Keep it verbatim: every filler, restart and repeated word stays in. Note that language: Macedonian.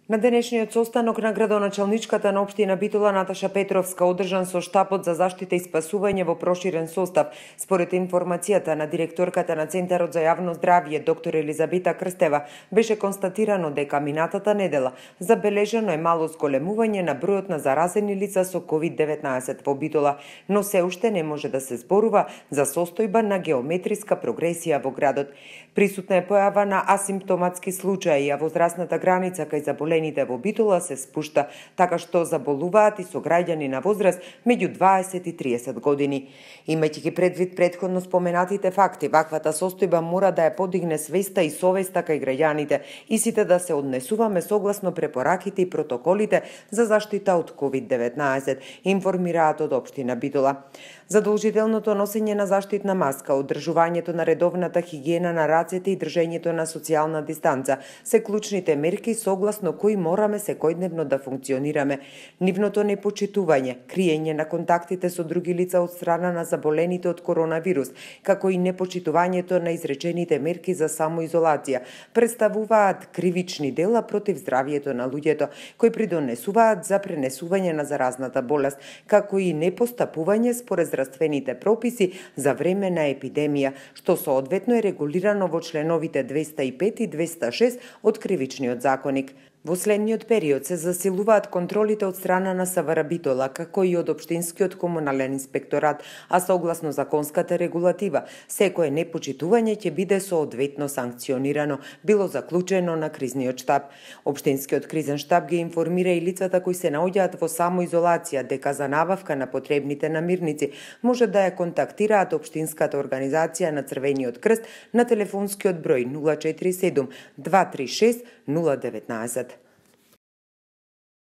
На денешниот состанок на градоначалничката на општина Битола Наташа Петровска, одржан со штабот за заштита и спасување во проширен состав, според информацијата на директорката на Центарот за јавно здравје доктор Елизабета Крстева, беше констатирано дека минатата недела забележано е мало зголемување на бројот на заразени лица со ковид деветнаесет во Битола, но се уште не може да се зборува за состојба на геометриска прогресија во градот. Присутна е појава на асимптоматски случаи, а возрастната граница кај заболените во Битола се спушта, така што заболуваат и сограѓани на возраст меѓу дваесет и триесет години. Имајќи предвид претходно споменатите факти, ваквата состојба мора да ја подигне свеста и совеста кај граѓаните и сите да се однесуваме согласно препораките и протоколите за заштита од ковид деветнаесет, информираат од општина Битола. Задолжителното носење на заштитна маска, одржувањето на редовната хигиена на рацете и држењето на социјална дистанца се клучните мерки согласно кои мораме секојдневно да функционираме. Нивното непочитување, криење на контактите со други лица од страна на заболените од коронавирус, како и непочитувањето на изречените мерки за самоизолација, представуваат кривични дела против здравјето на луѓето, кои придонесуваат за пренесување на заразната болест, како и непостапување според здравствените прописи за време на епидемија, што соодветно е регулирано во членовите двеста и пет и двеста и шест од Кривичниот законник. Во следниот период се засилуваат контролите од страна на СВР Битола, како и од Општинскиот комунален инспекторат, а согласно законската регулатива, секое непочитување ќе биде соодветно санкционирано, било заклучено на кризниот штаб. Општинскиот кризен штаб ги информира и лицата кои се наоѓаат во самоизолација дека за набавка на потребните намирници може да ја контактираат Општинската организација на Црвениот крст на телефонскиот број нула четири седум два три шест нула деветнаесет.